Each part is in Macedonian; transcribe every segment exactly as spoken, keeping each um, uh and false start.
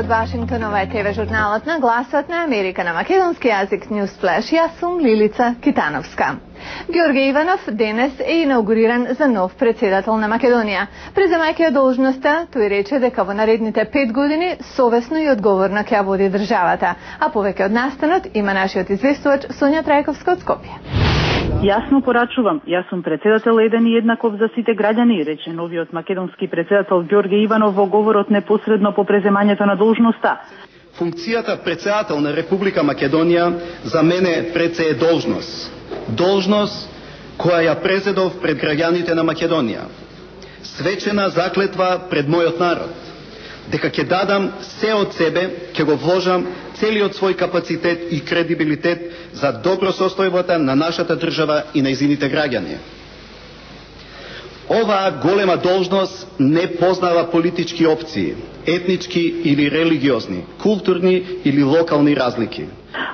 од Вашингтон, ова е ТВ журналот на Гласот на Америка на македонски јазик News Flash. Јас сум Лилица Китановска. Ѓорге Иванов денес е инаугуриран за нов председател на Македонија. Преземајќи ја должноста, тој рече дека во наредните пет години совесно и одговорно ќе ја води државата. А повеќе од настанот има нашиот известувач Сонја Трајковска од Скопје. Јасно порачувам, јас сум председател еден и еднаков за сите граѓани, рече новиот македонски председател Ѓорге Иванов во говорот непосредно по преземањето на должноста. Функцијата председател на Република Македонија за мене пред се е должност. Должност која ја презедов пред граѓаните на Македонија. Свечена заклетва пред мојот народ, дека ќе дадам се од себе, ќе го вложам целиот свој капацитет и кредибилитет за добро состојбата на нашата држава и нејзините граѓани. Оваа голема должност не познава политички опции, етнички или религиозни, културни или локални разлики.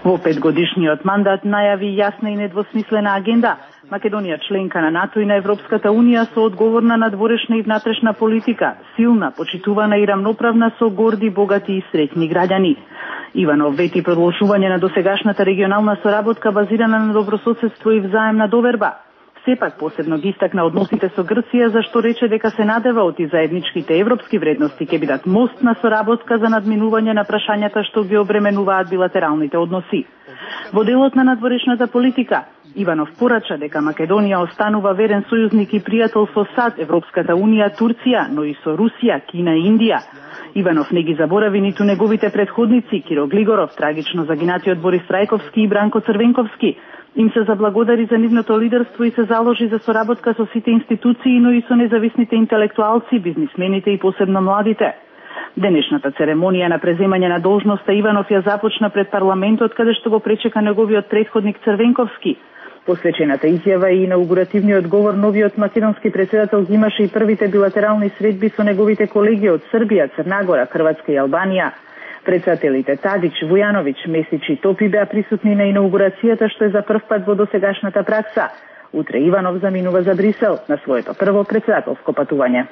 Во петгодишниот мандат најави јасна и недвосмислена агенда. Македонија членка на НАТО и на Европската Унија со одговорна надворешна и внатрешна политика, силна, почитувана и рамноправна со горди, богати и среќни граѓани. Иванов вети продолжување на досегашната регионална соработка базирана на добрососедство и взаемна доверба. Сепак посебно ги истакна односите со Грција, зашто рече дека се надева оти заедничките европски вредности ќе бидат мост на соработка за надминување на прашањата што ги обременуваат билатералните односи. Во делот на надворешната политика, Иванов порача дека Македонија останува верен сојузник и пријател со САД, Европската Унија, Турција, но и со Русија, Кина и Индија. Иванов не ги заборави ниту неговите предходници, Киро Глигоров, трагично загинатиот Борис Трајковски и Бранко Црвенковски. Им се заблагодари за нивното лидерство и се заложи за соработка со сите институции, но и со независните интелектуалци, бизнисмените и посебно младите. Денешната церемонија на преземање на должноста Иванов ја започна пред парламентот, каде што го пречека неговиот претходник Црвенковски. Посвечената изјава и инаугуративниот говор новиот македонски председател имаше и првите билатерални средби со неговите колеги од Србија, Црна Гора, Хрватска и Албанија. Председателите Тадич, Вујановиќ, Месич и Топи беа присутни на инаугурацијата, што е за прв пат во досегашната пракса. Утре Иванов заминува за Брисел на своето прво председателско патување.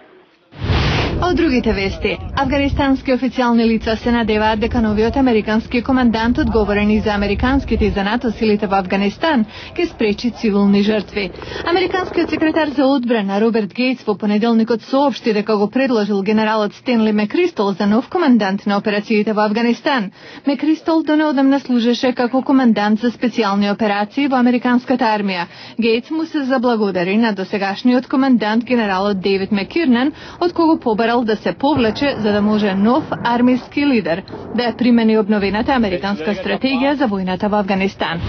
Од другите вести, афганистански официјални лица се надеваат дека новиот американски командант одговорен и за американските и за НАТО силите во Афганистан ќе спречи цивилни жртви. Американскиот секретар за одбрана Роберт Гейтс во понеделникот соопшти дека го предложил генералот Стенли Мекристол за нов командант на операциите во Афганистан. Мекристол донаодамна служеше како командант за специјални операции во американската армија. Гейтс му се заблагодари на досегашниот командант генералот Дейвид Мекирнан, од кого побара да се повлече за да може нов армиски лидер да ја примени обновената американска стратегија за војната во Афганистан.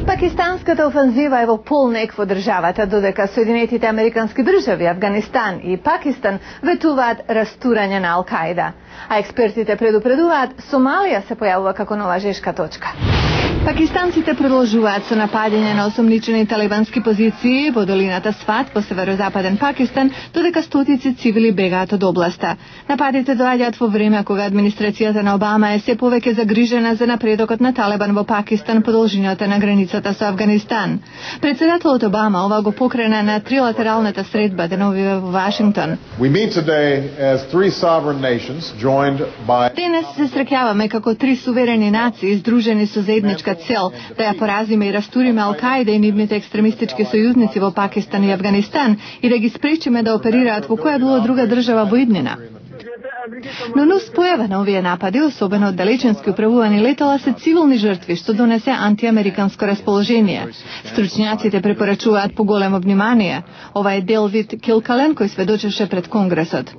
Пакистанската офанзива е во полнек во државата, додека Соединетите американски држави, Афганистан и Пакистан ветуваат растурање на Ал-Каида. А експертите предупредуваат Сомалија се појавува како нова жешка точка. Пакистанците продолжуваат со нападење на осомничени талибански позиции во долината Сват во северозападен Пакистан, додека стотици цивили бегаат од областа. Нападите доаѓаат во време кога администрацијата на Обама е се повеќе загрижена за напредокот на Талибан во Пакистан по должината на границата со Афганистан. Председателот Обама ова го покрена на трилатералната средба деновиве во Вашингтон. Денес се среќаваме како три суверени нации издружени со заедничка цел да ја поразиме и растуриме Ал-Каида и нивните екстремистички сојузници во Пакистан и Афганистан и да ги спречиме да оперираат во која било друга држава во иднина. Но нус појава на овие напади, особено од далеченски управувани летала, се цивилни жртви, што донесе антиамериканско расположение. Стручњаците препорачуваат поголемо внимание. Ова е Делвид Килкален кој сведочеше пред Конгресот.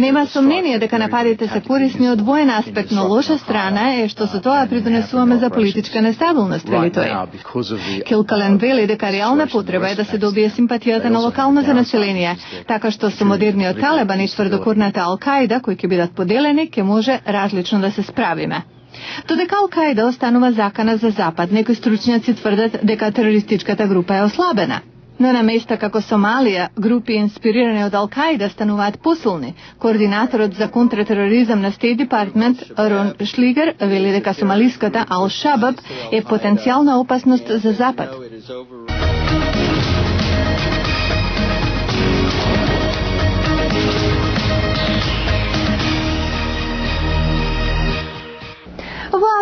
Нема сомнение дека нападите се корисни од воен аспект, но лоша страна е што со тоа придонесуваме за политичка нестабилност, вели тој. Килкален вели дека реална потреба е да се добие симпатијата на локалното население, така што со модерниот Талибан и тврдокорната Ал-Каида, кои ќе бидат поделени, ќе може различно да се справиме. Додека Ал-Каида останува закана за Запад, некои стручњаци тврдат дека терористичката група е ослабена. Но на места како Сомалија, групи инспирирани од Ал-Каида стануваат посилни. Координаторот за контратероризам на State Department, Рон Шлигер, вели дека сомалиската Ал-Шабаб е потенцијална опасност за Запад.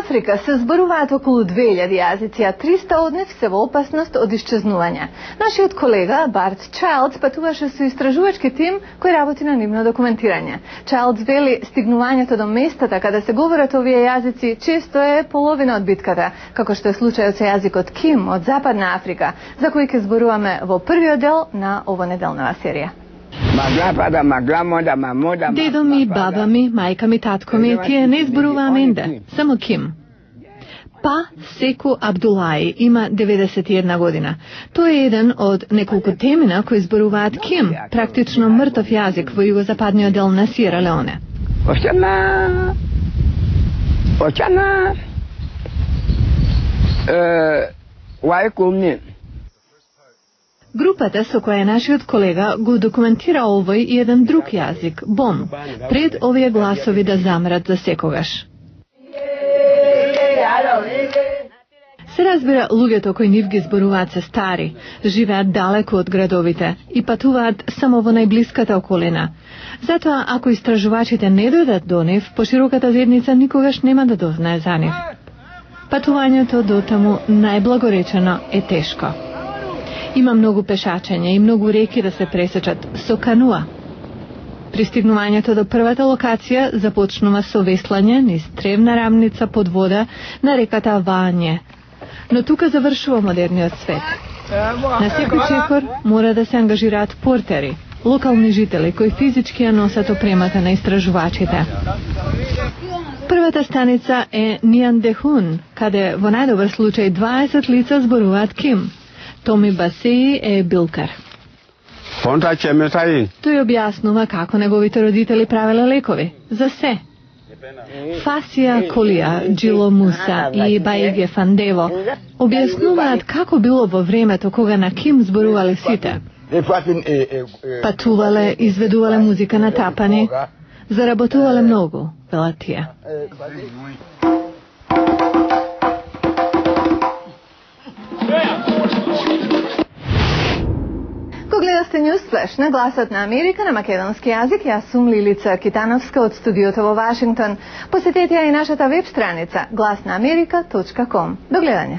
Африка се зборуваат околу две илјади јазици, а триста од нив се во опасност од исчезнување. Нашиот колега Барт Чайлдс патуваше со истражувачки тим кој работи на нивно документирање. Чайлдс вели стигнувањето до местата каде се говорат овие јазици често е половина од битката, како што е случајот со јазикот Ким од Западна Африка, за кој ќе зборуваме во првиот дел на овонеделнава серија. Дедо ми, баба ми, мајка ми, татко ми, тие не зборуваа менде, само Ким. Па Секу Абдулаи има деветдесет и една година. Тој е еден од неколку темина кои зборуваат Ким, практично мртов јазик во југозападниот дел на Сиера Леоне. Очана, очана, вај кумни. Групата со која нашиот колега го документира овој и еден друг јазик, Бом, пред овие гласови да замрат за секогаш. Се разбира, луѓето кои нив ги зборуваат се стари, живеат далеку од градовите и патуваат само во најблиската околина. Затоа, ако истражувачите не дојдат до нив, пошироката заедница никогаш нема да дознае за нив. Патувањето до таму најблагоречено е тешко. Има многу пешачење и многу реки да се пресечат со кануа. Пристигнувањето до првата локација започнува со веслање низ тревна рамница под вода на реката Вање. Но тука завршува модерниот свет. На секој чекор мора да се ангажираат портери, локални жители кои физички ја носат опремата на истражувачите. Првата станица е Ниандехун, каде во најдобар случај дваесет лица зборуваат Ким. Томи Басеи е билкар. Тој објаснува како неговите родители правеле лекови. За се. Фасија Колија, Джило Муса и Баиге Фандево објаснуваат како било во времето кога на Ким зборувале сите. Патувале, изведувале музика на тапани, заработувале многу, велат тие. Го гледавте Newsflash на Гласот на Америка на македонски јазик. Јас сум Лилица Китановска од студиото во Вашингтон. Посетете ја и нашата веб страница глас на америка точка ком. До гледање.